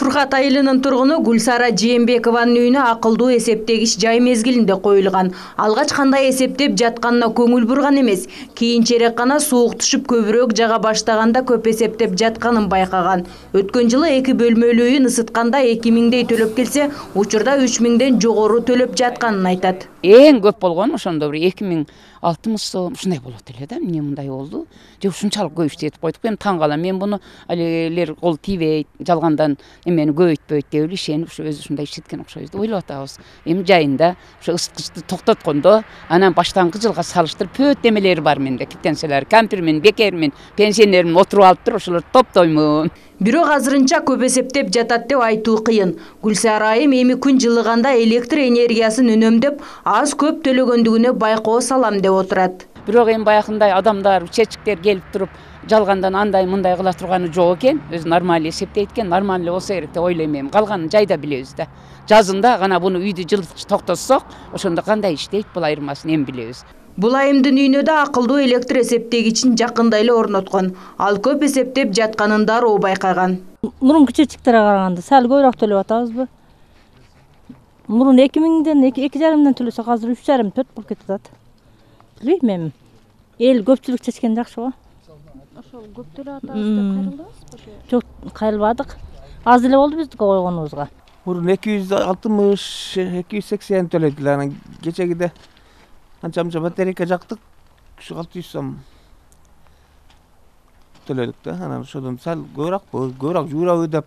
Фуркат айылынын тургуну Гүлсара Жээнбекованын үйүнө акылдуу эсептегич жай мезгилинде коюлган. Алгач кандай эсептеп жатканына көңүл бурган эмес. Кийинчерээк гана суук түшүп көбүрөөк жага баштаганда көп эсептеп жатканын байкаган. Өткөн жылы 2 бөлмөлүү үйүн ысытканда 2000дей төлөп келсе, учурда 3000ден жогору төлөп жатканын айтат. Эң көп болгону ошондо бир 2006 сом ушундай болот эле да. Эмне мындай болду? Же ушунчалык көп иштетип койдук. Мен таң калам. Мен буну алилер кол тийбейт, жалгандан эмени көбөйтпөйт деп эле ишенип ушу өзү ушундай иштеткен окшойбуз деп ойлоп атабыз. Эми жайында ушу ысыткычты токтоткондо анан баштаңкы жылга салыштырып пөт эмелери бар менде. Киттенселер, кампирмин, бекермин, пенсионермин отуруп алыптыр, ошолорду топтоймун. Бирок азырынча көп эсептеп жатат деп айтуу кыйын. Гүлсара айым эми күн жылыганда электр энергиясын үнөмдөп, аз көп төлөгөндүгүнө байкоо салам деп отурат. Бирок эми баягындай адамдар, чечиктер келип туруп, жалгандан андай мындай кыла турганы жок экен. Өзү нормаль эсептейт экен, нормаль болсо керек деп ойлойм эми. Калганын жайда билебиз да. Жазында гана буну үйдү жылытып токтотсок, ошондо кандай иштейт бул айырмасын эми билебиз. Бул айымдын үйүнө да акылдуу электр эсептегичин жакында эле орноткон. Ал көп эсептеп жатканын дароо байкаган. Мурунку чечиктерге караганда сал көбүрөөк төлөп атабызбы? Мурун 2000ден 2,5ден төлөсөк, азыр 3,5-4 болуп кетип атат. Билбейм эми. Эл көпчүлүк чечкен жакшы го. Ошол көп төлөп атабыз деп кайрылдыңызбы? Жок, кайрылбадык. Аз эле болду биздики койгонубузга. Мурун 260, 280 төлөйт эле. Анан кечегиде анча-мынча батарейка жактык, ушу 600 сом төлөдүк да. Анан ошодон сал көбүрөөк жуурабы деп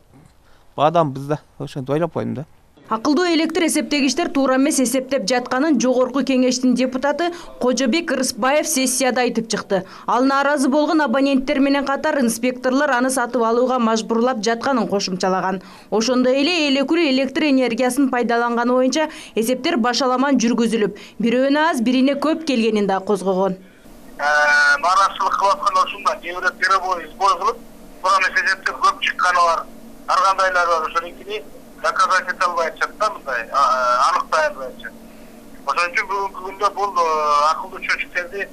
баадамбыз да. Ошентип ойлоп койдум да. Акылдуу электр эсептегичтер туура эмес эсептеп жатканын Жогорку кеңештин депутаты Кожобек Ырысбаев сессияда айтып чыкты. Ал нааразы болгон абоненттер менен катар инспекторлор аны сатып алууга мажбурлап жатканын кошумчалаган. Ошондой эле элекүл электр энергиясын пайдаланганы боюнча эсептер башаламан жүргүзүлүп, бирөөнө аз, бирине көп келгенин да козгогон. Нааразычылык кылып аткан ушунда кээ бирөө сбой кылып, бирок эсептер көп чыкканы бар. Ар кандайлар бар, ошонукини доказать ете албайчы да, мындай аныктай албайчы. Ошон үчүн бүгүнкү күндө бул акылдуу чөчүктерди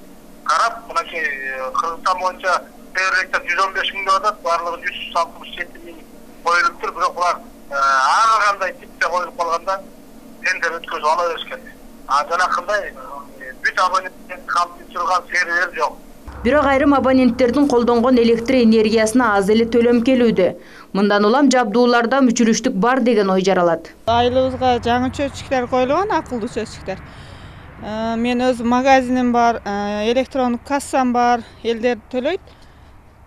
карап, мынакей Кыргызстан боюнча Теректе 115 миң деп атат, барлыгы 167 миң коюлуптур, бирок булар ар кандай типте коюлуп калганда тендер өткөзүп ала беришкен. Жанакындай бүт абоненттерди камтып турган сервер жок. Бирок айрым абоненттердин колдонгон электр энергиясына аз эле төлөм келүүдө. Мындан улам жабдууларда мүчүрүштүк бар деген ой жаралат. Айылыбызга жаңы чөчүктөр коюлган, акылдуу чөчүктөр. Мен өз магазиним бар, электрондук кассам бар, элдер төлөйт.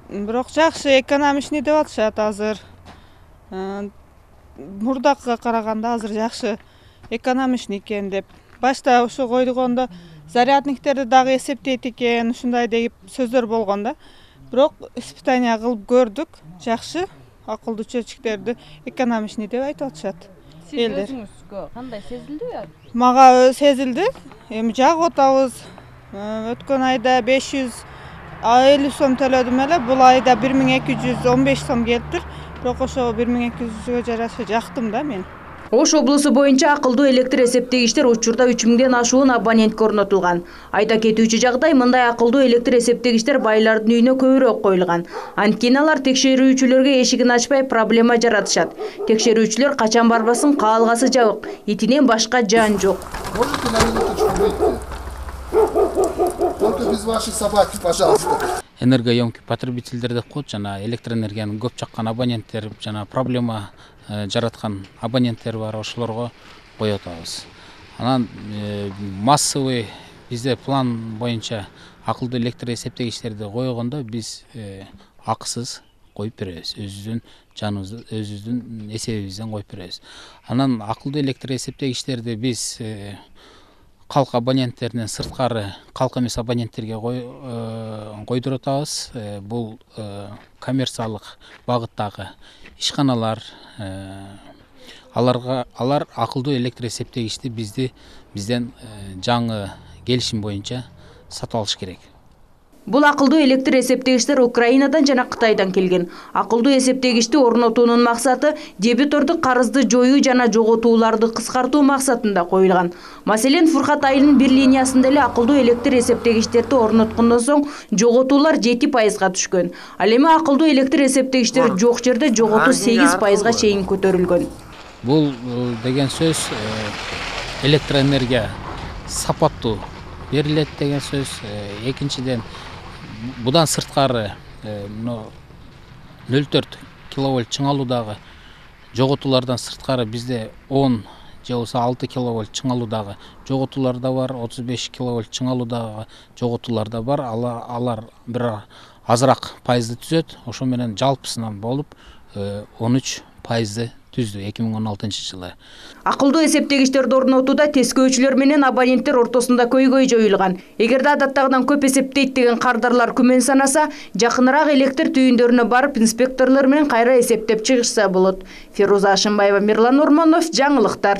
Бирок жакшы экономичный деп атышат азыр. Мурдакыга караганда азыр жакшы экономичный экен деп. Башта ушу койдугондо зарядниктерди дагы эсептейт экен, ушундай деп сөздөр болгон да. Бирок испытание кылып көрдүк, жакшы акылдуу чөчүктерди экономичный деп айтып атышат. Сиз өзүңүзгө кандай сезилдиби? Мага сезилди. Эми жагып атабыз. Өткөн айда 550 сом төлөдүм эле, бул айда 1215 сом келиптир. Бирок ошо 1200гө жараша жактым да мен. Ош облусу боюнча акылдуу электр эсептегичтер учурда 3000ден ашуун абонентке орнотулган. Айта кетүүчү жагдай, мындай акылдуу электр эсептегичтер байлардын үйүнө көбүрөөк коюлган. Анткени алар текшерүүчүлөргө эшигин ачпай проблема жаратышат. Текшерүүчүлөр качан барбасын каалгасы жабык, итинен башка жан жок. Можете на минуточку выйти? Только без вашей собаки, пожалуйста. Энергоемкий потребительдер деп коет, жана электроэнергияны көп чаккан абоненттер, жана проблема жараткан абоненттер бар, ошолорго коюп атабыз. Анан массовый бизде план боюнча акылдуу электр эсептегичтерди койгондо биз акысыз коюп беребиз. Өзүбүздүн жаныбызды, өзүбүздүн эсебибизден коюп беребиз. Анан акылдуу электр эсептегичтерди биз калк абоненттеринен сырткары калк эмес абоненттерге койдуруп атабыз. Бул коммерциялык багыттагы ишканалар, алар акылдуу электр эсептегичти бизден жаңы келишим боюнча сатып алыш керек. Бул акылдуу электр эсептегичтер Украинадан жана Кытайдан келген. Акылдуу эсептегичти орнотуунун максаты дебитордук карызды жоюу жана жоготууларды кыскартуу максатында коюлган. Маселен, Фуркат айылынын бир линиясында эле акылдуу электр эсептегичтерди орноткондон соң жоготуулар 7%га түшкөн. Ал эми акылдуу электр эсептегичтер жок жерде жоготуу 8%га чейин көтөрүлгөн. Бул деген сөз электроэнергия сапаттуу берилет деген сөз. Экинчиден, будан сырткары 0,4 киловольт чыңалуудагы жоготуулардан сырткары бизде 10 же болбосо 6 киловольт чыңалуудагы жоготуулар да бар, 35 киловольт чыңалуудагы жоготуулар да бар. Алар бир азыраак пайызды түзөт. Ошо менен жалпысынан болуп 13% түздү 2016-жылы. Акылдуу эсептегичтерди орнотууда тескөөчүлөр менен абоненттер ортосунда көйгөй жоюлган. Эгерде адаттагыдан көп эсептейт деген кардарлар күмөн санаса, жакыныраак электр түйүндөрүнө барып инспекторлор менен кайра эсептеп чыгышса болот. Феруза Ашымбаева, Мирлан Ормонов, жаңылыктар.